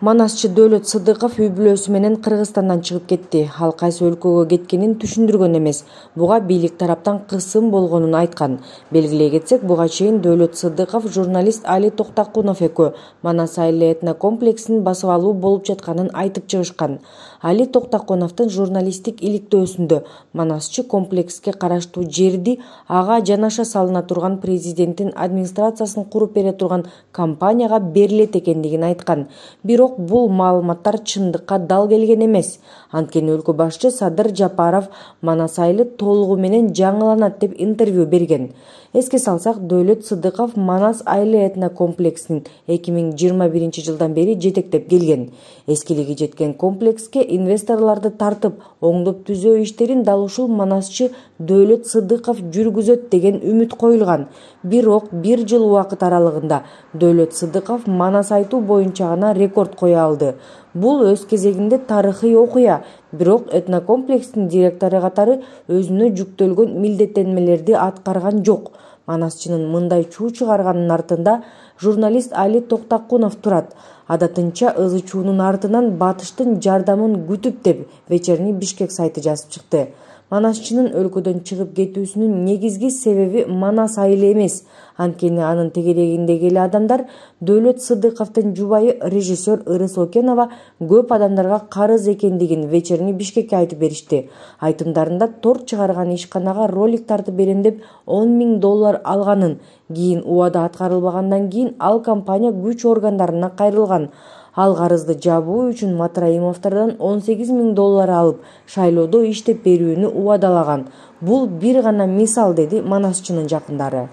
Манасчы Дөөлөт Сыдыков үй-бүлөсү менен Кыргызстандан чыгып кетти. Ал кайсы өлкөгө кеткенин түшүндүргөн эмес. Буга бийлик тараптан кысым болгонун айткан. Белгилей кетсек, буга чейин Дөөлөт Сыдыков журналист Али Токтокунов экөө Манас айыл этно комплексин басып алуу болуп жатканын айтып чыгышкан. Али Токтокуновдун журналисттик иликтөөсүндө Манасчы комплекске караштуу жерди ага жанаша салына турган президенттин администрациясын куруп бере турган компанияга берилет экендигин айткан. Бирок бул маалыматтар чындыкка дал келген эмес. Анткени өлкө башчы Садыр Жапаров Манас айылы толугу менен жаңыланат деп интервью берген. Эске салсак, Дөөлөт Сыдыков Манас айыл этно комплексин 2021 жылдан бери жетектеп келген. Эскилиги жеткен комплекске инвесторлорду тартып, оңдоп түзөө иштерин дал ушул Манасчы Дөөлөт Сыдыков жүргүзөт деген үмүт коюлган. Бирок 1 жыл убакыт аралыгында Дөөлөт Сыдыков Манас айтуу боюнча гана рекорд кое алды. Бул өз кезегинде тарыхый окуя, бирок этнокомплекстин директору катары өзүнө жүктөлгөн милдеттенмелерди аткарган жок. Манасчынын мындай чуу чыгарганын артында журналист Али Токтокунов турат. Адатынча ызы-чуунун артынан батыштын жардамын күтүп деп Вечерний Бишкек сайты жазып чыкты. Манасчынын өлкөдөн чыгып кетүүсүнүн негизги себеби Манас айылы эмес. Анткени анын тегерегиндеги эле адамдар Дөөлөт Сыдыковдун жубайы режиссер Ырыс Окенова көп адамдарга карыз экендигин Вечерний Бишкекке айтып беришти. Айтымдарында торт чыгарган ишканага ролик тартып берем деп $10,000 алганын, кийин убада аткарылбагандан кийин ал компания күч органдарына кайрылган. Ал карызды жабуу үчүн Матраимовдордон $18,000 алып, шайлоодо иштеп берүүнү убадалаган. Бул бир гана мисал, деди Манасчынын жакындары.